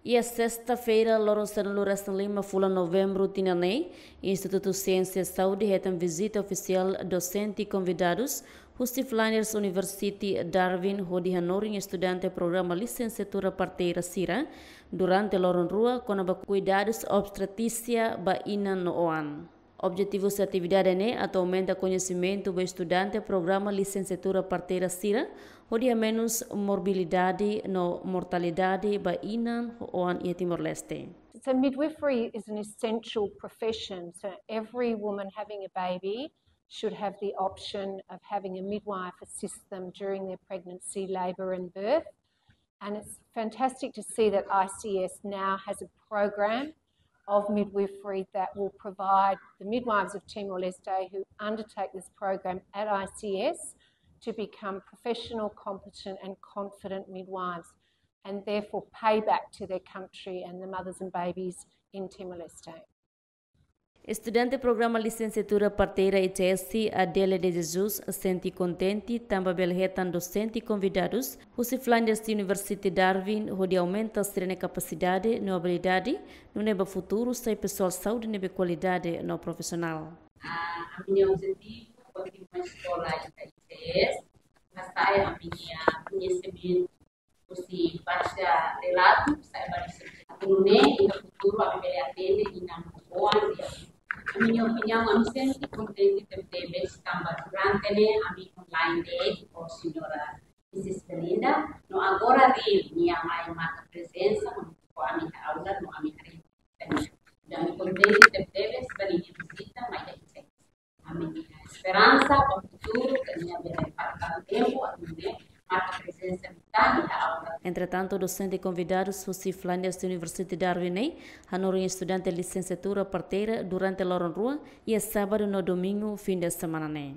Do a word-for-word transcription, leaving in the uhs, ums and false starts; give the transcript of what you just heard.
Iha sesta-feira, loron sanulu-resin-lima fulan Novembru tinan ne'e, Institutu Siénsia Saúde hetan vizita ofisiál dosente konvidadus husi Flinders University Darwin hodi hanorin estudante programa lisensiatura parteira sira durante loron rua kona-ba kuidadus obstetrísia ba inan no oan. Objetivu husi atividade ne'e atu aumenta koñesimentu ba estudante programa lisensiatura parteira sira hodi hamenus morbilidade no mortalidade ba inan ho oan iha Timor-Leste. So midwifery is an essential profession. So every woman having a baby should have the option of having a midwife assist them during their pregnancy, labour and birth. And it's fantastic to see that I C S now has a program of midwifery that will provide the midwives of Timor-Leste who undertake this program at I C S to become professional, competent and confident midwives, and therefore pay back to their country and the mothers and babies in Timor-Leste. Estudante programa lisensiatura parteira I C S, Adele de Jesus, sente kontente tanba bele hetan dosente konvidadus husi Flinders University Darwin hodi aumenta sira-nia kapasidade no abilidade, nune'e ba futuru sai pesoál saúde ne'ebé kualidade no profisionál. Ah, ami-nia objetivu kontinua eskola iha I C S, hasa'e ami-nia koñesimentu husi base relatu, sai ba research. Atu nune'e iha futuru ami bele atende inan no oan. Ami-nia opiniaun, ami sente kontente tebetebes tanba durante ne'e ami online de'it ho señora Misis Belinda, no agora nia mai marka prezensa ho ami iha aula no ami harii. Ami kontente tebetebes ba nia vizita mai iha I C S. Ami iha esperansa ba futuru ke nia bele marka tempu atu nune'e marka prezensa iha aula. Entretantu, dosente konvidadus husi Flinders University Darwin ne'e hanorin estudante lisensiatura parteira durante loron rua iha sábadu no domingu fin de semana ne'e.